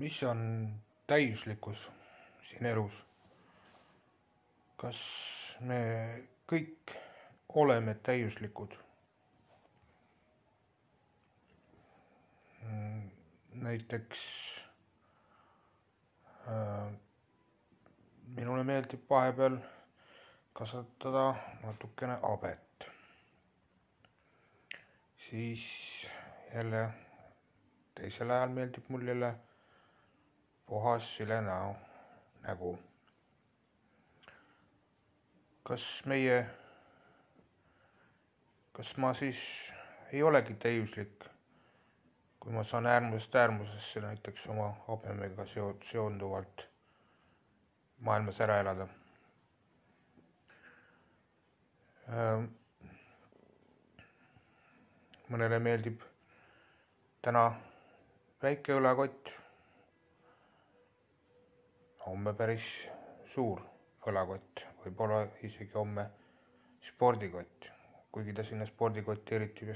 Mis on täiuslikkus siin elus? Kas me kõik oleme täiuslikud? Näiteks minule meeldib vahepeal kasvatada natukene habet. Siis jälle teisel ajal meeldib mul jälle puhas sile nägu. Kas ma siis ei olegi täiuslik, kui ma saan äärmusest äärmusesse näiteks oma habemega seonduvalt maailmas ära elada? Mõnele meeldib täna väike õlakott, homme päris suur õlakott, võib-olla isegi homme spordikott, kuigi ta sinna spordikotti eriti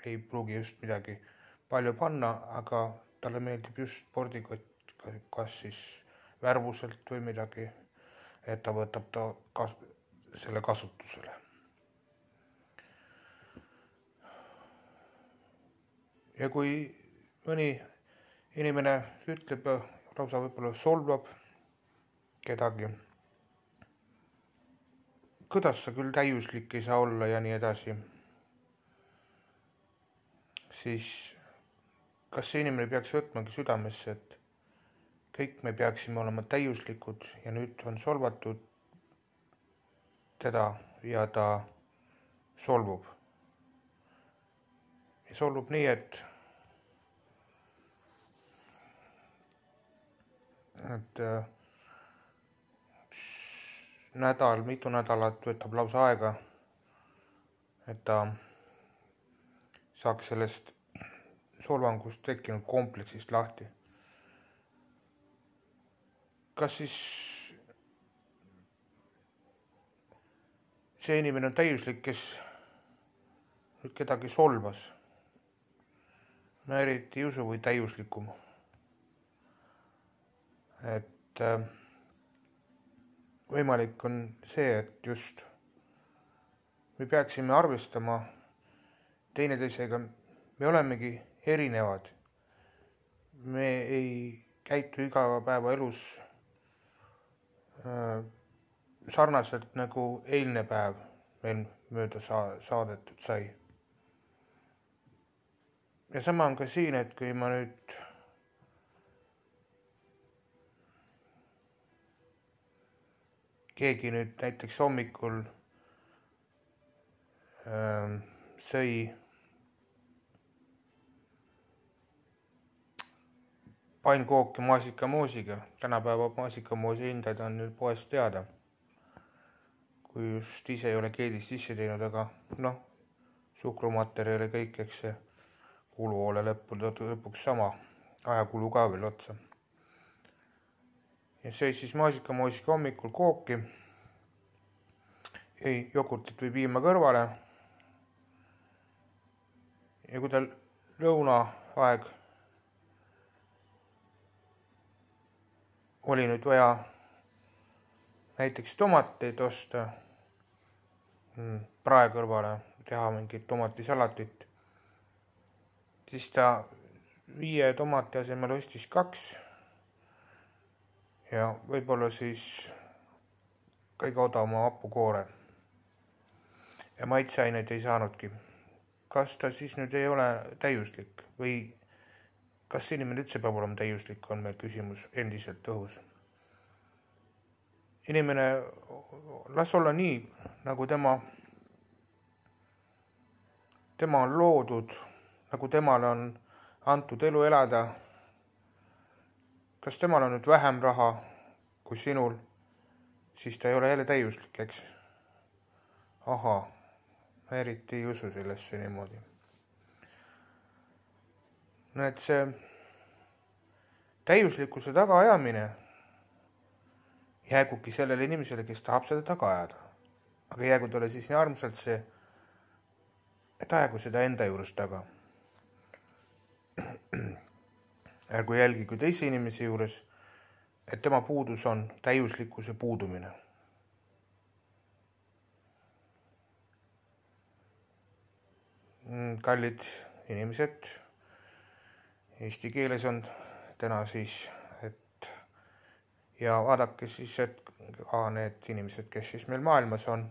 ei pruugi just midagi palju panna, aga talle meeldib just spordikott, kas siis värvuselt või midagi, et ta võtab selle kasutusele. Ja kui mõni inimene ütleb, lausa võib-olla solvab kedagi, kuidas sa küll täiuslik ei saa olla ja nii edasi, siis kas see inimene peaks võtmagi südamesse, et kõik me peaksime olema täiuslikud ja nüüd on solvatud teda ja ta solvub. Ja solvub nii, et mitu nädalat võtab lausa aega, et ta saaks sellest solvangust tekkinud kompleksist lahti. Kas siis see inimene on täiuslik, kes nüüd kedagi solvas? Ma eriti ei usu, või täiuslikum. Et võimalik on see, et just me peaksime arvestama teineteisega, me olemegi erinevad. Me ei käitu igapäevaelus sarnaselt nagu eilne päev meil mööda saadetud sai. Ja sama on ka siin, et kui ma nüüd keegi nüüd näiteks hommikul sõi pannkooki maasikamoosiga. Tänapäeva maasikamoosi hindad on nüüd poest teada, kui just ise ei ole keedist sisse teinud, aga suhkrumaterjali kõik, eks see kuluhoole lõpuks sama, ajakulu ka veel otsa. Ja see siis maasikamoosiga hommikul kooki, jogurtit või piima kõrvale. Ja kui tal lõunaaeg oli nüüd vaja näiteks tomateid osta prae kõrvale, teha mingit tomatisalatit, siis ta 5 tomati asemel ostis 2 ja võib-olla siis kõige odavama hapukoore. Ja maitseaineid ei saanudki. Kas ta siis nüüd ei ole täiuslik või kas inimene üldse peab olema täiuslik, on meil küsimus endiselt õhus. Inimene, las olla nii, nagu tema on loodud, nagu temale on antud elu elada. Kas temal on nüüd vähem raha kui sinul, siis ta ei ole jälle täiuslik, eks? Aha, ma eriti ei usu sellesse niimoodi. No et see täiuslikkuse tagaajamine jäägugi sellele inimesele, kes tahab seda taga ajada. Aga jäägu talle siis nii armsalt see, et ajagu seda enda juures taga. ärgu jälgigu teise inimese juures, et tema puudus on täiuslikkuse puudumine. Kallid inimesed, eesti keeles on täna siis, ja vaadake siis, et ka need inimesed, kes siis meil maailmas on,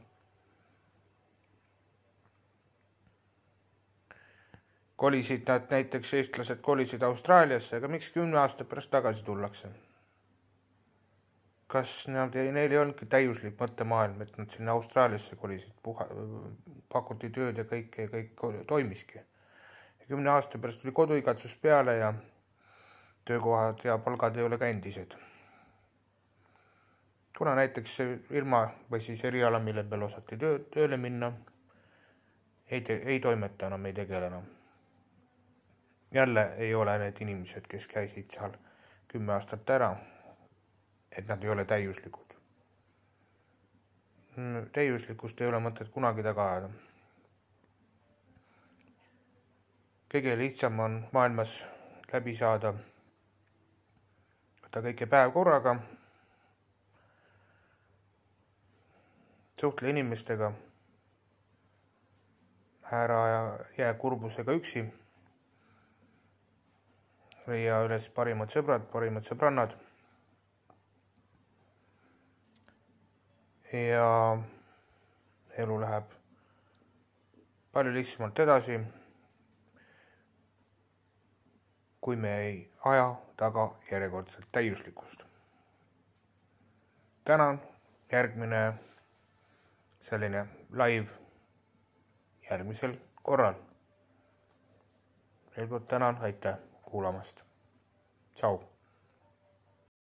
kolisid nad, näiteks eestlased kolisid Austraaliasse, aga miks 10 aasta pärast tagasi tullakse? Kas neil ei olnudki täiuslik mõttemaailm, et nad sinna Austraaliasse kolisid, pakuti tööd ja kõik toimiski. 10 aasta pärast tuli koduigatsus peale ja töökohad ja palgad ei ole ka endised. Kuna näiteks see firma või siis eriala, mille peal osati tööle minna, ei toimeta enam, ei tegele enam. Jälle ei ole need inimesed, kes käisid seal 10 aastat ära, et nad ei ole täiuslikud. Täiuslikkust ei ole mõtet kunagi taga ajada. Kõige lihtsam on maailmas läbi saada, võtta kõike päev korraga, suhtle inimestega, ära jää kurbusega üksi, leia üles parimad sõbrad, parimad sõbrannad ja elu läheb palju lihtsamalt edasi, kui me ei aja taga järjekordselt täiuslikkust. Tänan, järgmine selline live järgmisel korral. Veel kord tänan, aitäh kuulamast. Tšau!